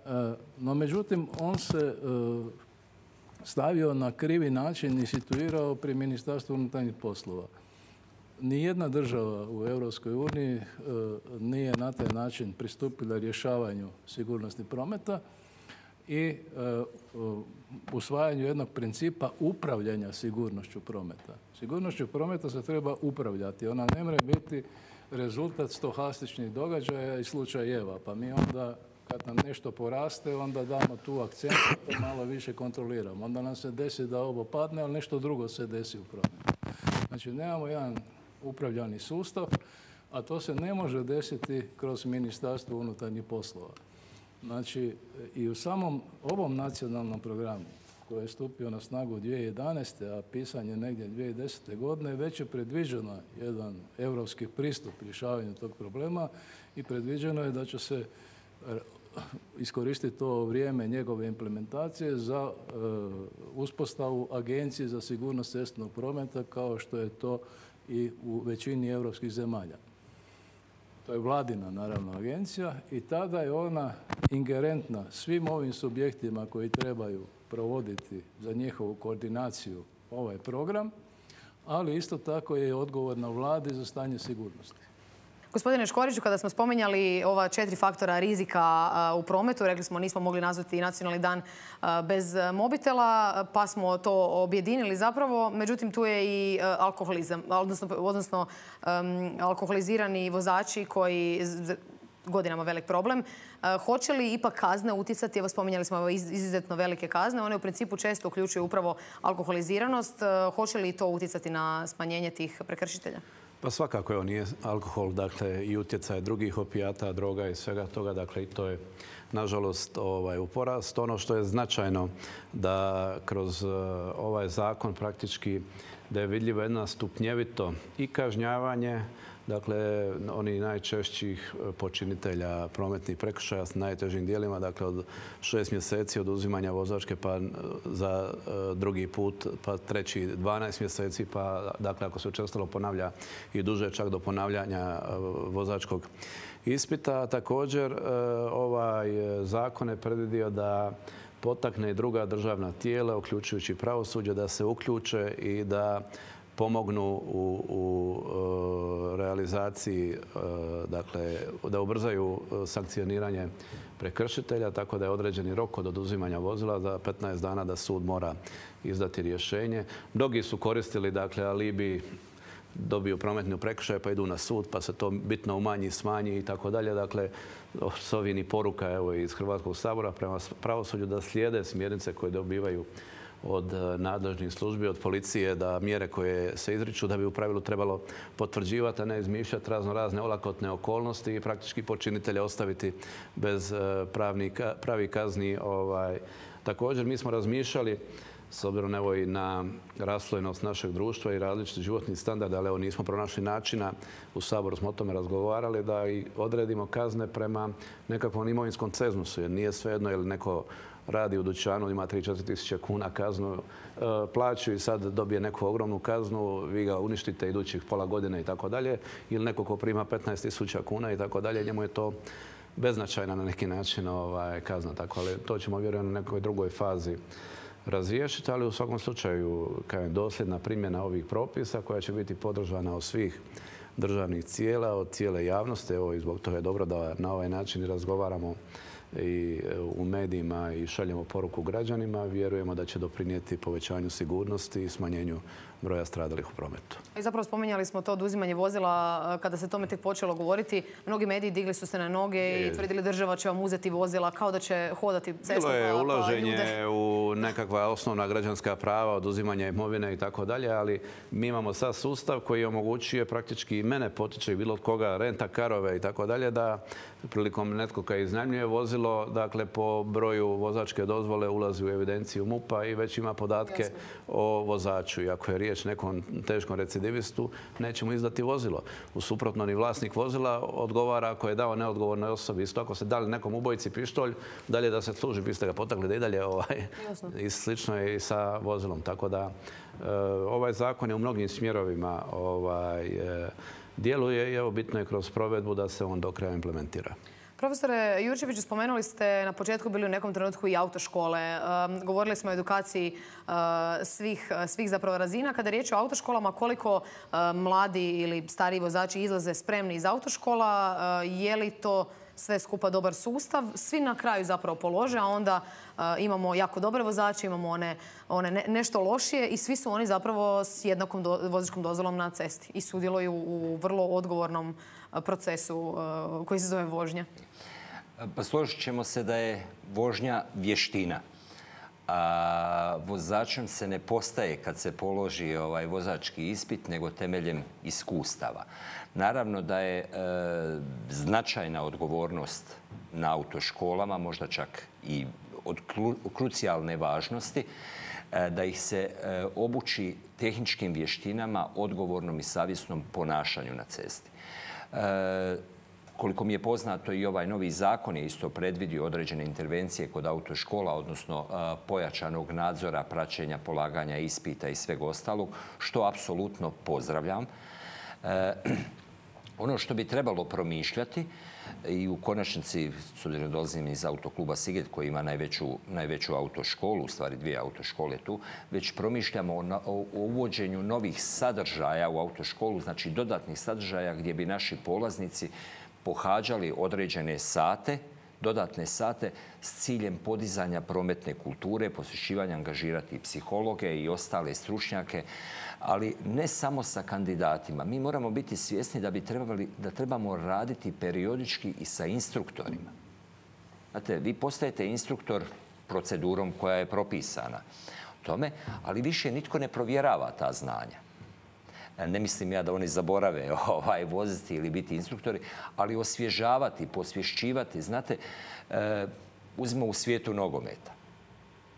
no, međutim, on se stavio na krivi način i situirao pri Ministarstvu unutarnjih poslova. Nijedna država u Europskoj uniji nije na taj način pristupila rješavanju sigurnosti prometa i usvajanju jednog principa upravljanja sigurnošću prometa. Sigurnošću prometa se treba upravljati. Ona ne može biti rezultat stohastičnih događaja i slučajeva. Pa mi onda, kad nam nešto poraste, onda damo tu akcent i to malo više kontroliramo. Onda nam se desi da ovo padne, ali nešto drugo se desi u prometu. Znači, nemamo jedan upravljani sustav, a to se ne može desiti kroz Ministarstvo unutarnjih poslova. Znači, i u samom ovom nacionalnom programu koji je stupio na snagu dvije tisuće jedanaeste. a pisan je negdje dvije tisuće desete. godine, već je predviđeno jedan europski pristup rješavanju tog problema i predviđeno je da će se iskoristiti to vrijeme njegove implementacije za e, uspostavu Agencije za sigurnost cestovnog prometa, kao što je to i u većini europskih zemalja. To je vladina, naravno, agencija i tada je ona ingerentna svim ovim subjektima koji trebaju provoditi za njihovu koordinaciju ovaj program, ali isto tako je odgovorna vladi za stanje sigurnosti. Gospodine Škoriću, kada smo spominjali ova četiri faktora rizika u prometu, rekli smo nismo mogli nazvati nacionalni dan bez mobitela, pa smo to objedinili zapravo. Međutim, tu je i alkoholizam, odnosno, odnosno um, alkoholizirani vozači koji godinama velik problem. Hoće li ipak kazne utjecati? Evo, spominjali smo izuzetno velike kazne. One u principu često uključuju upravo alkoholiziranost. Hoće li to utjecati na smanjenje tih prekršitelja? Pa svakako je on nije alkohol, dakle i utjecaj drugih opijata, droga i svega toga, dakle i to je nažalost ovaj, u porast. Ono što je značajno da kroz uh, ovaj zakon praktički da je vidljivo jedna stupnjevito i kažnjavanje, dakle, oni najčešćih počinitelja prometnih prekršaja s najtežim dijelima, dakle, od šest mjeseci oduzimanja vozačke, pa za drugi put, pa treći dvanaest mjeseci, pa, dakle, ako se učestalo ponavlja i duže čak do ponavljanja vozačkog ispita. Također, ovaj zakon je predvidio da potakne i druga državna tijela, uključujući pravosuđe, da se uključe i da pomognu u, u realizaciji, dakle, da ubrzaju sankcioniranje prekršitelja, tako da je određeni rok od oduzimanja vozila za petnaest dana da sud mora izdati rješenje. Mnogi su koristili, dakle, alibi, dobiju prometni prekršaj pa idu na sud, pa se to bitno umanji, smanji i tako dalje. Dakle, s ovim i poruka evo, iz Hrvatskog sabora prema pravosuđu da slijede smjernice koje dobivaju od nadležnih službi, od policije, da mjere koje se izriču da bi u pravilu trebalo potvrđivati, a ne izmišljati razno razne olakotne okolnosti i praktički počinitelja ostaviti bez pravih kazni. Ovaj. Također mi smo razmišljali, s obzirom evo i na raslojenost našeg društva i različiti životni standard, ali evo nismo pronašli načina, u Saboru smo o tome razgovarali, da i odredimo kazne prema nekakvom imovinskom cenzusu, jer nije svejedno ili neko radi u dućanu, ima tri do četiri tisuće kuna kaznu, plaću i sad dobije neku ogromnu kaznu, vi ga uništite idućih pola godine i tako dalje, ili neko ko prima petnaest tisuća kuna i tako dalje, njemu je to beznačajna na neki način ovaj, kazna. Tako, ali to ćemo vjerujem na nekoj drugoj fazi razriješiti, ali u svakom slučaju kao je dosljedna primjena ovih propisa koja će biti podržana od svih državnih tijela, od cijele javnosti. Evo, i zbog toga je dobro da na ovaj način razgovaramo i u medijima i šaljemo poruku građanima. Vjerujemo da će doprinijeti povećanju sigurnosti i smanjenju broja stradalih u prometu. I zapravo spominjali smo to oduzimanje vozila kada se tome tek počelo govoriti. Mnogi mediji digli su se na noge i tvrdili država će vam uzeti vozila kao da će hodati cestom. Bilo je ulaženje u nekakva osnovna građanska prava, oduzimanje imovine i tako dalje, ali mi imamo sad sustav koji omogućuje praktički i mene potiče i bilo od koga renta karove i tako dalje, da prilikom netko kad iznajmljuje vozilo, dakle po broju vozačke dozvole ulazi u evidenciju MUP-a i već ima podatke Jasne. o vozaču. I ako je riječ nekom teškom recidivistu, nećemo izdati vozilo. U suprotno, ni vlasnik vozila odgovara ako je dao neodgovornoj osobi. Isto ako se dali nekom ubojici pištolj, dalje da se služi, biste ga potakli da i dalje ovaj, i slično je i sa vozilom. Tako da ovaj zakon je u mnogim smjerovima ovaj, djeluje i evo bitno je kroz provedbu da se on do kraja implementira. Profesore Jurčeviću, spomenuli ste na početku bili u nekom trenutku i autoškole. Govorili smo o edukaciji svih, svih zapravo razina. Kada je riječ o autoškolama, koliko mladi ili stariji vozači izlaze spremni iz autoškola, je li to sve skupa dobar sustav. Svi na kraju zapravo polože, a onda imamo jako dobre vozače, imamo one, one ne, nešto lošije i svi su oni zapravo s jednakom do, vozačkom dozvolom na cesti i sudjeluju u vrlo odgovornom procesu koji se zove vožnja. Pa složit ćemo se da je vožnja vještina. A vozačem se ne postaje kad se položi ovaj vozački ispit, nego temeljem iskustava. Naravno da je e, značajna odgovornost na autoškolama, možda čak i od klu, krucijalne važnosti, e, da ih se e, obuči tehničkim vještinama, odgovornom i savjesnom ponašanju na cesti. E, Koliko mi je poznato, i ovaj novi zakon je isto predvidio određene intervencije kod autoškola, odnosno pojačanog nadzora, praćenja, polaganja ispita i sveg ostalog, što apsolutno pozdravljam. E, ono što bi trebalo promišljati i u konačnici, s obzirom da dolazim iz autokluba Siget koji ima najveću, najveću autoškolu, u stvari dvije autoškole tu, već promišljamo o, o uvođenju novih sadržaja u autoškolu, znači dodatnih sadržaja gdje bi naši polaznici pohađali određene sate, dodatne sate s ciljem podizanja prometne kulture, posvećivanja, angažirati psihologe i ostale stručnjake, ali ne samo sa kandidatima. Mi moramo biti svjesni da bi trebali, da trebamo raditi periodički i sa instruktorima. Znate, vi postajete instruktor procedurom koja je propisana tome, ali više nitko ne provjerava ta znanja. Ne mislim ja da oni zaborave ovaj, voziti ili biti instruktori, ali osvježavati, posvješćivati. Znate, e, uzmimo u svijetu nogometa.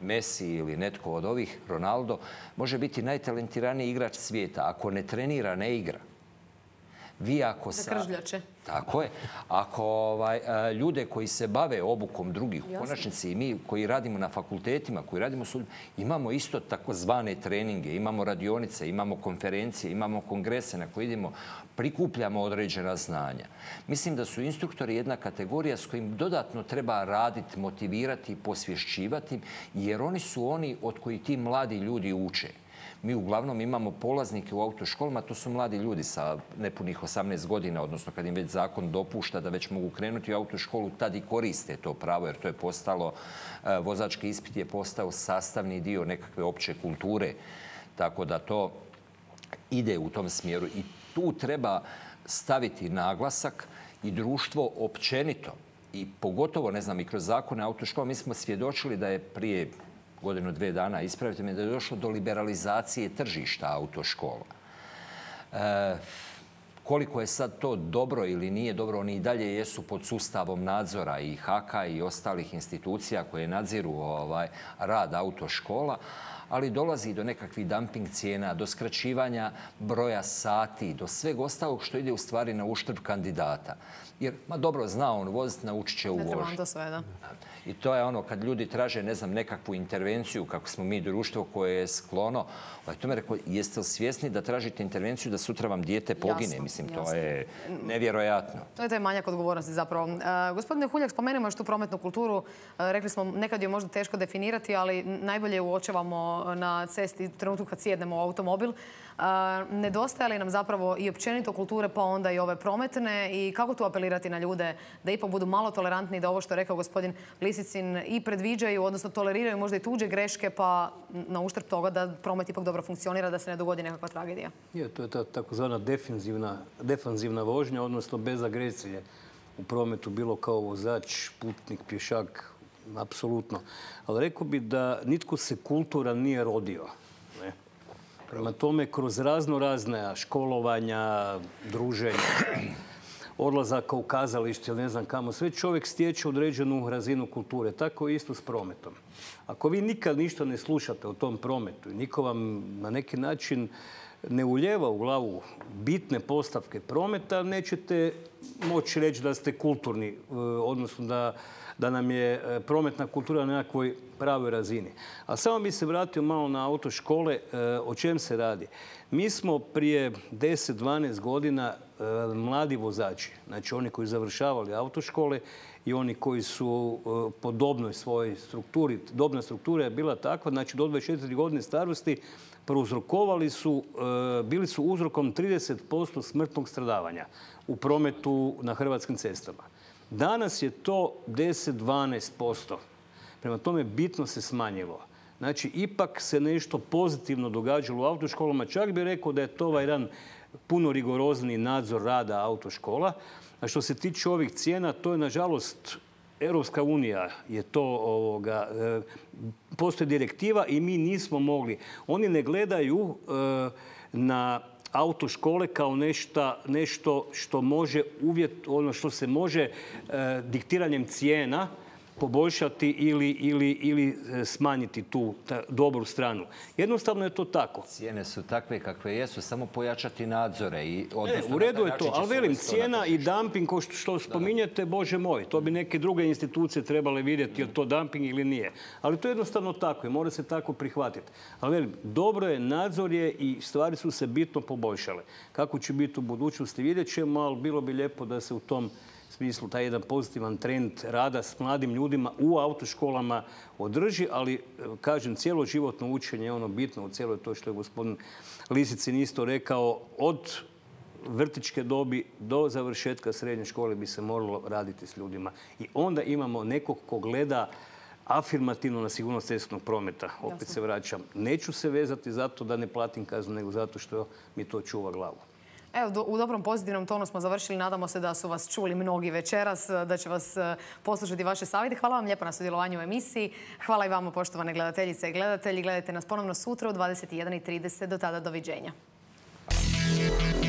Messi ili netko od ovih, Ronaldo, može biti najtalentiraniji igrač svijeta. Ako ne trenira, ne igra. Vi ako sa... Kržljače. Tako je. Ako ovaj, ljude koji se bave obukom drugih, u konačnici i mi koji radimo na fakultetima, koji radimo su, imamo isto takozvane treninge, imamo radionice, imamo konferencije, imamo kongrese na koje idemo, prikupljamo određena znanja. Mislim da su instruktori jedna kategorija s kojim dodatno treba raditi, motivirati, posvješćivati, jer oni su oni od koji ti mladi ljudi uče. Mi uglavnom imamo polaznike u autoškolama, to su mladi ljudi sa nepunih osamnaest godina, odnosno kad im već zakon dopušta da već mogu krenuti u autoškolu, tad i koriste to pravo, jer to je postalo, vozački ispit je postao sastavni dio nekakve opće kulture, tako da to ide u tom smjeru. I tu treba staviti naglasak i društvo općenito. I pogotovo, ne znam, i kroz zakone autoškola, mi smo svjedočili da je prije godinu, dve dana, ispravite me, da je došlo do liberalizacije tržišta autoškola. E, koliko je sad to dobro ili nije dobro, oni i dalje jesu pod sustavom nadzora i H A K-a i ostalih institucija koje nadziru ovaj, rad autoškola, ali dolazi do nekakvih dumping cijena, do skraćivanja broja sati, do sveg ostalog što ide u stvari na uštrb kandidata. Jer, ma dobro, zna on voziti, naučit će u vožnji. Ne treba to sve, da. I to je ono, kad ljudi traže, ne znam, nekakvu intervenciju, kako smo mi društvo koje je sklono, to me rekao, jeste li svjesni da tražite intervenciju da sutra vam dijete pogine? Jasno, Mislim, jasno. To je nevjerojatno. To je taj manjak odgovornosti zapravo. Uh, gospodine Huljak, spomenemo još tu prometnu kulturu. Uh, rekli smo, nekad je možda teško definirati, ali najbolje uočavamo na cesti u trenutku kad sjednemo u automobil. Uh, nedostaje li nam zapravo i općenito kulture, pa onda i ove prometne, i kako tu apelirati na ljude da ipak budu malo tolerantni, da ovo što je rekao gospodin Lisicin i predviđaju, odnosno toleriraju možda i tuđe greške, pa na uštrb toga da promet ipak dobro funkcionira, da se ne dogodi nekakva tragedija? Je, to je ta takozvana defanzivna, defanzivna vožnja, odnosno bez agresije u prometu, bilo kao vozač, putnik, pješak, apsolutno. Ali rekao bi da nitko se kulturan nije rodio. Ne? Prema tome, kroz razno razne školovanja, druženja, odlazaka u kazalište ili ne znam kamo, sve čovjek stječe određenu razinu kulture. Tako je isto s prometom. Ako vi nikad ništa ne slušate o tom prometu i niko vam na neki način ne uljeva u glavu bitne postavke prometa, nećete moći reći da ste kulturni, odnosno da, da nam je prometna kultura na nekakvoj pravoj razini. A samo bi se vratio malo na autoškole, o čem se radi. Mi smo prije deset do dvanaest godina mladi vozači, znači oni koji završavali autoškole i oni koji su po dobnoj svojoj strukturi, dobna struktura je bila takva, znači do dvadeset četiri godine starosti, prouzrokovali su, bili su uzrokom trideset posto smrtnog stradavanja u prometu na hrvatskim cestama. Danas je to deset do dvanaest posto. Prema tome bitno se smanjilo. Znači, ipak se nešto pozitivno događalo u autoškolama. Čak bih rekao da je to ovaj jedan puno rigorozniji nadzor rada autoškola. A što se tiče ovih cijena, to je nažalost Europska unija je to, ovoga, postoji direktiva i mi nismo mogli. Oni ne gledaju na autoškole kao nešta, nešto što može uvjet, ono što se može diktiranjem cijena poboljšati ili, ili, ili smanjiti tu ta, dobru stranu. Jednostavno je to tako. Cijene su takve kakve jesu, samo pojačati nadzore. I e, u redu je to, ali velim, cijena i dumping, ko što, što spominjete, Bože moj, to bi neke druge institucije trebale vidjeti je li to dumping ili nije. Ali to je jednostavno tako i mora se tako prihvatiti. Ali velim, dobro je, nadzor je i stvari su se bitno poboljšale. Kako će biti u budućnosti vidjet ćemo, ali bilo bi lijepo da se u tom smislu taj jedan pozitivan trend rada s mladim ljudima u autoškolama održi, ali kažem, cjeloživotno učenje je ono bitno u cijeloj to što je gospodin Lisicin isto rekao, od vrtićke dobi do završetka srednje škole bi se moralo raditi s ljudima. I onda imamo nekog ko gleda afirmativno na sigurnost cestovnog prometa. Opet se vraćam. Neću se vezati zato da ne platim kaznu, nego zato što mi to čuva glavu. Evo, u dobrom pozitivnom tonu smo završili. Nadamo se da su vas čuli mnogi večeras, da će vas poslušati vaše savjete. Hvala vam lijepo na sudjelovanju u emisiji. Hvala i vama, poštovane gledateljice i gledatelji. Gledajte nas ponovno sutra u dvadeset jedan i trideset. Do tada, doviđenja. Hvala.